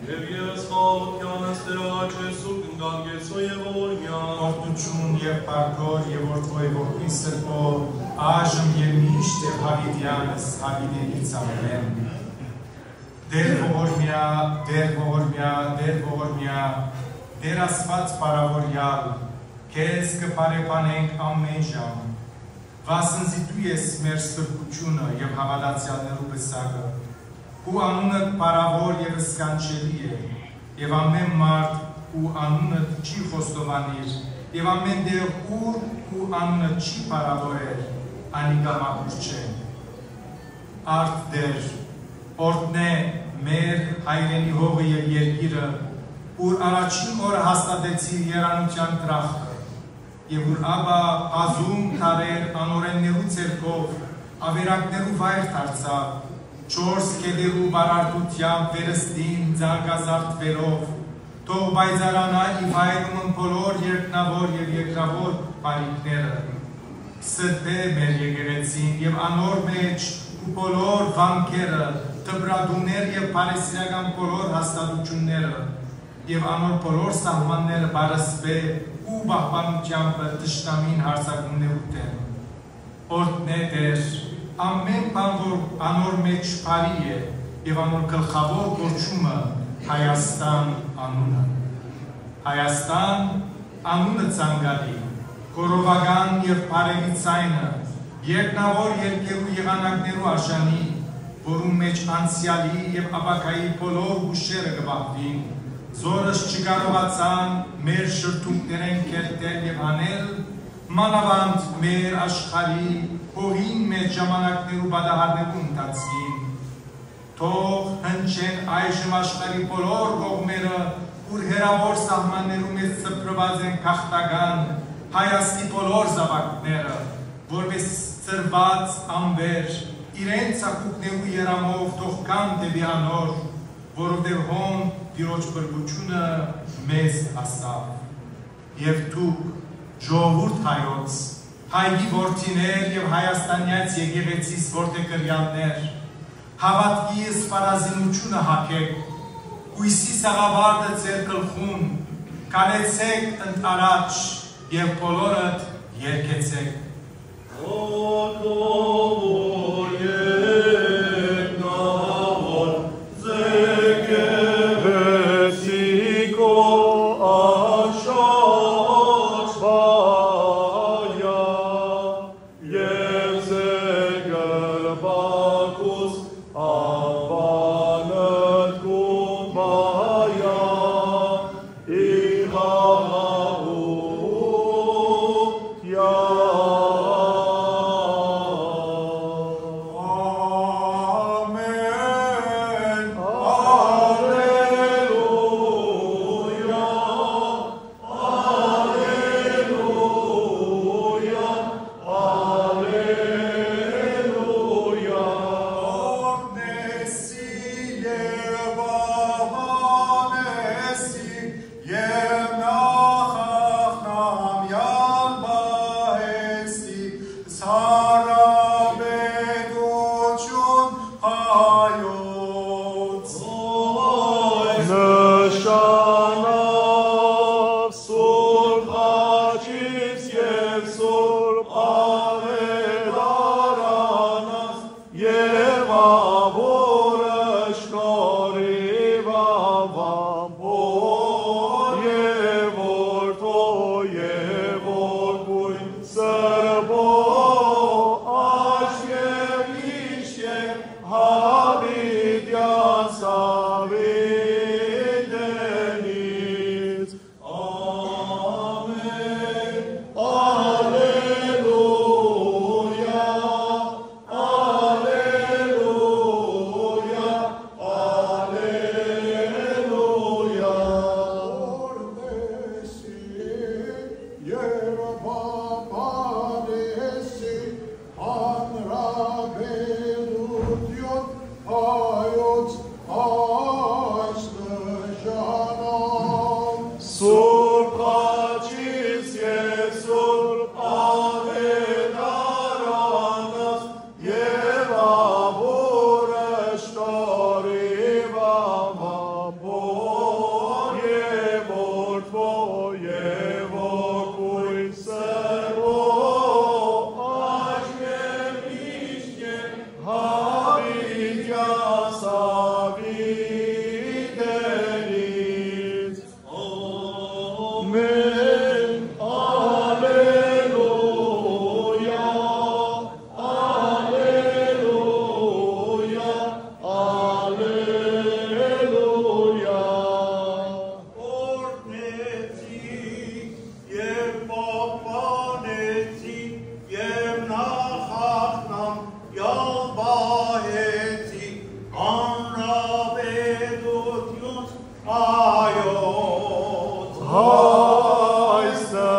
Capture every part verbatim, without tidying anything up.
Եւ ես խաղաղութեանս Տէր առաջ ես ու կ'ընկալկեցնեմ եւ ողորմեալ։ Օրհնութիւն եւ փառք Հօր եւ Որդի եւ Որդի Սրբոյ, այժմ եւ միշտ եւ յաւիտեանս յաւիտենիցս։ Ամէն։ Տէր ողորմեա, Տէր ողորմեա, Տէր ողորմեա, Տէր Աստուած փառաւորեալ, քեզ կը բարեբանենք ամէն ժամ, վասն զի դու ես մեր սրբութիւնը եւ հաւատացեալներու պսակը։ Քու անունդ փառաւոր եւ սքանչելի է, եւ ամէն մարդ քու անունդ չի խոստովանիր, եւ ամէն տեղ ուր քու անունդ չի փառաւորեր, անիկա մաքուր չէ։ Արդ Տէր, օրհնէ մեր հայրենի հողը եւ երկիրը, ուր առաջին օրը հաստատեցիր երանութեան դրախտը, եւ ուր ապա բազում դարեր անօրէններու ձեռքով աւերակներու վայր դարձաւ, չորս գետերու բարարդութեամբ վերստին զարգազարդուելով, թող պայծառանայ ի վայրումն բոլոր երկնաւոր եւ երկրաւոր բարիքները։ Սրբէ մեր եկեղեցին եւ անոր մէջ քու բոլոր վանքերը, դպրատուներ եւ բարեսիրական բոլոր հաստատութիւնները, եւ անոր բոլոր սահմանները պարսպէ ու պահպանութեամբ թշնամին յարձակումներու դէմ։ Օրհնէ Տէր, ամէն բան որ անոր մէջ բարի է, եւ անոր գլխաւոր կոչումը Հայաստան անունը։ Հայաստան անունը ցանկալի, խորովական եւ բարեւի ձայնը, երկնաւոր երկերու եղանակներու արժանի, որուն մէջ անցեալի եւ ապագայի բոլոր յուշերը կը պահուին, զորս չկարողացան մեր շրթունքներէն քերթել եւ հանել, մանաւանդ մեր աշխարհի հողին մէջ ժամանակներու պատահարներու ընթացքին։ Թող հնչեն այժմ աշխարհի բոլոր կողմերը, ուր հեռաւոր սահմաններու մէջ սփռուած են գաղթական հայաստի բոլոր զաւակները, որպէս ծռուած անվեր, իրենց ակունքներու երամով թող գան դէպի անոր, որովհետեւ հոն Տիրոջ փրկութիւնը մեզ հասաւ։ Եւ դուք, ժողովուրդ հայոց, հայկի որդիներ եւ Հայաստանեայց եկեղեցիս որդեգրեալներ, հաւատքի սպառազինութիւնը յագէք, կոյսի սաղավարտը ձեր գլխուն, քալեցէք ընդ առաջ եւ բոլորդ երգեցէք։ Հայոց հայսը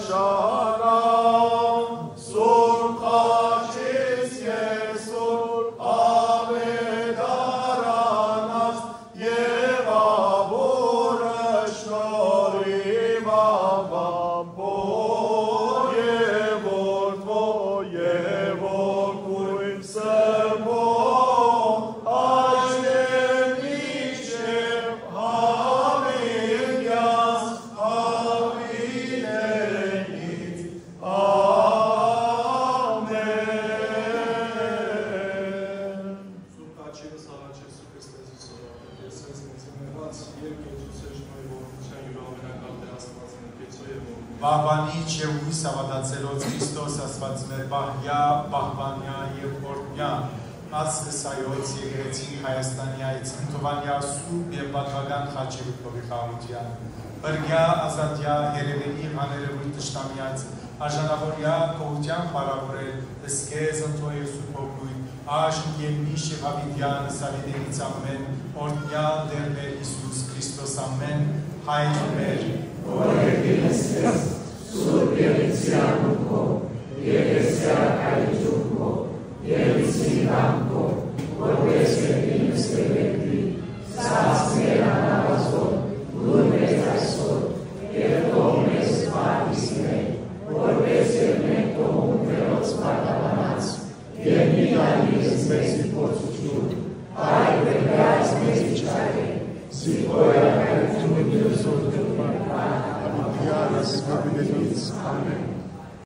շարան, Սուրբ Խաչից Սուրբ Աւետարանաց, եւ Աբորը շնորհիւ Աբամբո, եւ Որդմո, եւ Ոգուն Սրբո, աջ եւ մինչեւ համինկեանց, համինենից։ Ամէն։ Սուրբ Խաչի Սաղաչեսու Քրիստոսի սորը, Քրիստոս մեծամեղաց, երկեչուսէ շնորհի ողորմության յուրամենակալ Տէր Աստուածը, Քեծո եւ ողորմի։ Պահպանիչ եւ յոյս հաւատացելոց Քրիստոս Աստուած մեր պահեա, պահպանեա եւ օրհնեա, ասես հայոց եկեղեցին Հայաստանեայ, Ցնդուանեայ սուրբ եւ պատուական խաչի վրդովի խաղաղութեան։ Բրգեայ, ազատեայ, հերեւելի, աներևոյթ թշնամիայց, արժանաւորեայ գոհութեան փառաւորել, զգեզ, Որդի եւ Սուրբ Հոգի, այժմ եւ միշտ եւ յաւիտեան, սավիտենից ամէն, օրհնեալ Տէր մեր Յիսուս Քրիստոս ամէն, Հայր մեր, որ երկինս ես, սուրբ եւ յիսի անունքով, եւ եսի արքայութիւնքով, եւ յիսի կամքով, որպէս երկինս կը երկրի, սա ասմեր անհավազոր, լուր մեզ այսօր, եւ թող մեզ պարտիզներ, որպէս եւ մենք թողուն Տիրոջ պարտականաց, եւ մի տալի մեզի փորձութիւն, այլ կրկած մեզի չարէ, զի քոյ արքայութիւնը, գերզորքը, պարտականութեանս, կապիտենից, ամէն։